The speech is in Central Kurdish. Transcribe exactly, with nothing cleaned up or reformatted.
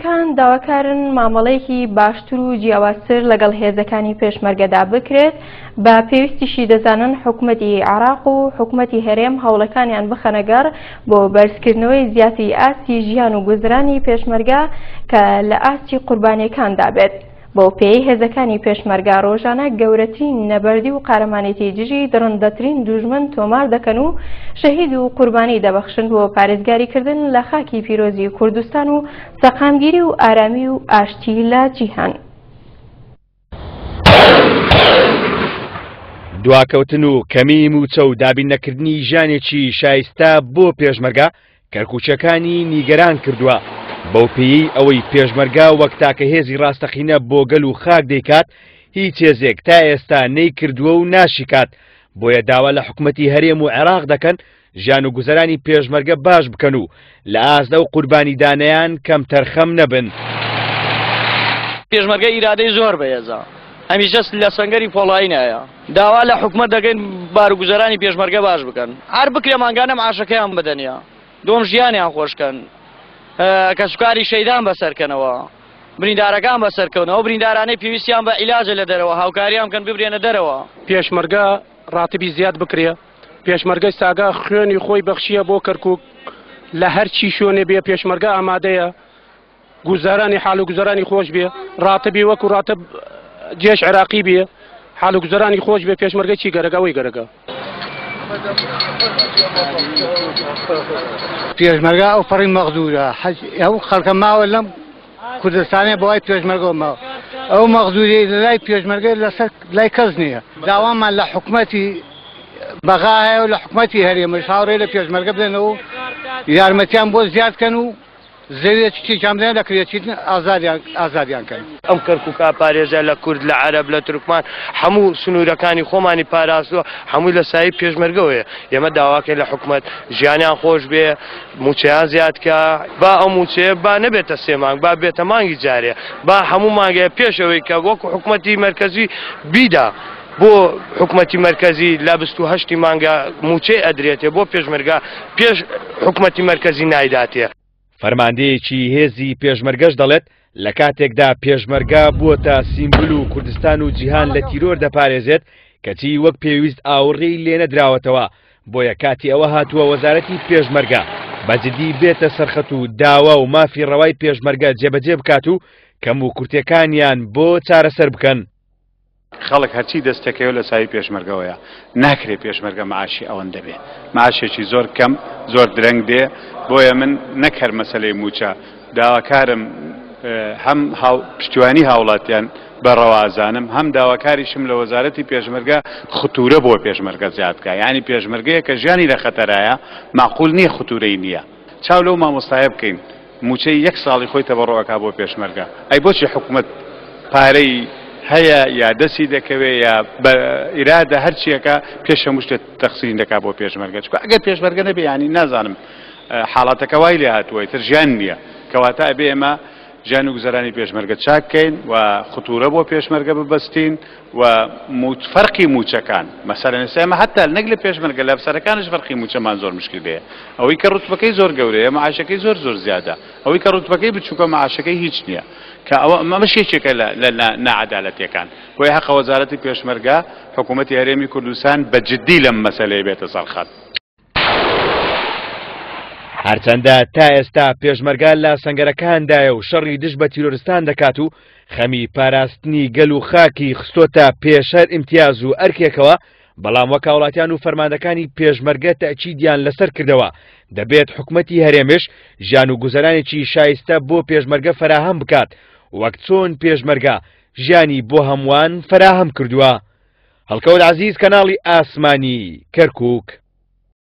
کان داواکارن مامەڵەیەکی باشتر و جیاوازتر لەگەڵ هێزەکانی پێشمەرگەدا بکرێت. بە پێویستیشی دەزانن حکومەتی عێراق و حکومەتی هەرێم هەوڵەکانیان بخەنەگەڕ بۆ بەرزکردنەوەی زیاتری ئاستی ژیان و گوزرانی پێشمەرگە کە لە ئاستی قوربانیەکاندا بێت. بۆ پێی هێزەکانی پێشمەرگە ڕۆژانە گەورەترین نەبەردی و قارەمانێتی دژی دڕندەترین دوژمن تۆمار دەکەن و شەهید و قوربانی دەبەخشن بۆ پارێزگاریکردن لە خاکی پیرۆزی کوردستان و سەقامگیری و ئارامی و ئاشتی لە جیهان. دواکەوتن و کەمی موچە و دابین نەکردنی ژیانێکی شایستە بۆ پێشمەرگە کەرکوچەکانی نیگەران کردووە. بەو پێیەی ئەوەی پێشمەرگە وەک تاکە هێزی ڕاستەقینە بۆ گەل و خاک دەیکات، هیچ هێزێک تا ئێستا نەیکردووە و ناشیکات. بۆیە داوا لە حکومەتی هەرێم و عێراق دەکەن ژیان و گوزەرانی پێشمەرگە باش بکەن و لە ئاست ئەو قوربانیدانەیان کەمتەرخەم نەبن. پێشمەرگە ئیرادەی زۆر بەهێزە، هەمیشە لە سەنگەری پۆڵایینایە. داوا لە حکومەت دەکەین باروگوزەرانی پێشمەرگە باش بکەن، هەر بکرێ مانگانە معاشەکەیان بدەنیە، دۆم ژیانیان خۆشکەن، کەسوکاری شەیدان بەسەرکەنەوە، بریندارەکان بەسەرکەونەوە، بریندارانەی پێویستیان بە عیلاجە لە دەرەوە هاوکاریان بکەن ببرێنە دەرەوە. پێشمەرگە ڕاتبی زیاد بکرێ، پێشمەرگەی ساگا خوێنی خۆی بەخشیە بۆ کەرکوک، لە هەرچی شوێنێ بێ پێشمەرگە ئامادەیە، گوزارانی حال و گوزارانی خۆش بێ، ڕاتبی وەکو ڕاتب جێش عێراقی بێ، حال و گوزارانی خۆش بێ. پێشمەرگە چی گەرەگە ئەوەی گەرەگە. پێشمەرگە ئەو پەڕی مەغدورە، ئەو خەڵکە ماوە لەم کوردستانێ بەوای پێشمەرگەوە ماوە، ئەو مەغدوری لەلای پێشمەرگە لەسەر لای کەس نییە. داوامان لە حکومەتی بەغا هەیە و لە حکومەتی هەرێمش هاوڕێ لە پێشمەرگە بدەنەوە و یارمەتیان بۆ زیاد کەن و زەویەکی چیان بدەن لە کرێچیتن ئازادیان کەن. ئەم کەرکوکا پارێزە لە کورد، لە عەرەب، لە تورکمان، هەموو سنوورەکانی خۆمانی پاراستووە، هەمووی لە سایەی پێشمەرگەوەیە. ئێمە داواکەین لە حکومەت ژیانیان خۆش بێ، موچەیان زیاد کە، با ئەو موچەیە با نەبێتە سێ مانگ، با بێتە مانگی جارێ، با هەموو مانگەیە پێشەوەی کە وەکو حکومەتی مەرکەزی بیدا بۆ حکومەتی مەرکەزی لە بیست و هەشتی مانگە موچەی ئەدرێتێ بۆ پێشمەرگە، پێش حکومەتی مەرکەزی نایداتێ. فەرماندەیەکی هێزی پێشمەرگەش دەڵێت لە کاتێکدا پێشمەرگە بووەتە سیمبول و کوردستان و جیهان لە تیرۆر دەپارێزێت، کەچی وەک پێویست ئاوڕی لێنەدراوەتەوە. بۆیە کاتی ئەوە هاتووە وەزارەتی پێشمەرگە بەجدی بێتە سەرخەت و داوا و مافی ڕەوای پێشمەرگە جێبەجێ بکات و کەم و کورتەکانیان بۆ چارەسەر بکەن. خەڵک هەرچی دەستەکەیەوە لە سایەی پێشمەرگەوەیە، ناکرێت پێشمەرگە معاشی ئەوەندە بێ، معاشێکی زۆر کەم زۆر درەنگ دێ. بۆیە من نەک هەر مەسەلەی موچە داواکارم، هەم پشتیوانی هاوڵاتیان بە ڕەوازانم، هەم داواکاریشم لە وەزارەتی پێشمەرگە خطورە بۆ پێشمەرگە زیاد بکە. یعنی پێشمەرگەیە کە ژیانی لە خەتەرایە، معقول نییە خطورەی نییە. چاو لەو مامۆستایە بکەین موچەی یەک ساڵی خۆی تەبەڕۆکا بۆ پێشمەرگە، ئەی بۆچی حکومەت پارەی هەیە یا دەستی دەکەوێ یا بە ئیرادە هەرچیەکە پێش هەموو شتێک تەقسیم دەکا بۆ پێشمەرگە؟ چونکە ئەگەر پێشمەرگە نەبێ یعنی نازانم حاڵاتەکە وای لێ هاتووە، ئیتر ژیان نییە. کەواتە ئەبێ ئێمە ژیان و گوزەرانی پێشمەرگە چاک بکەین و خطورە بۆ پێشمەرگە ببەستین و فەرقی موچەکان. مەسەلەن ئێستا ئێمە حتا نەک لە پێشمەرگە، لە ئەفسەرەکانش فەرقی موچەمان زۆر مشکلەیە. ئەوەی کە ڕوتبەکەی زۆر گەورەیە معاشەکەی زۆر زۆر زیادە، ئەوەی کە ڕوتبەکەی بچووکە معاشەکەی هیچ نییە. کە ئەوە ئەمەش یەکێکە لە ناعەدالەتیەکان. بۆیە حەقە وەزارەتی پێشمەرگە حکوومەتی هەرێمی کوردستان بە جدی لەم مەسەلەیە بێتە سەرخەت. هەرچەندە تا ئێستا پێشمەرگە لە سەنگەرەکاندایە و شەڕی دژ بە تیرۆرستان دەکات و خەمی پاراستنی گەل و خاکی خستۆتە پێشەر ئیمتیاز و ئەرکێکەوە، بەڵام وەک هاوڵاتیان و فەرماندەکانی پێشمەرگە تەئکیدیان لەسەر کردەوە دەبێت حکومەتی هەرێمش ژیان و گوزەرانێکی شایستە بۆ پێشمەرگە فەراهەم بکات، وەک چۆن پێشمەرگە ژیانی بۆ هەمووان فەراهەم کردووە. هەڵکەوت عەزیز، کەناڵی ئاسمانی کەرکوک.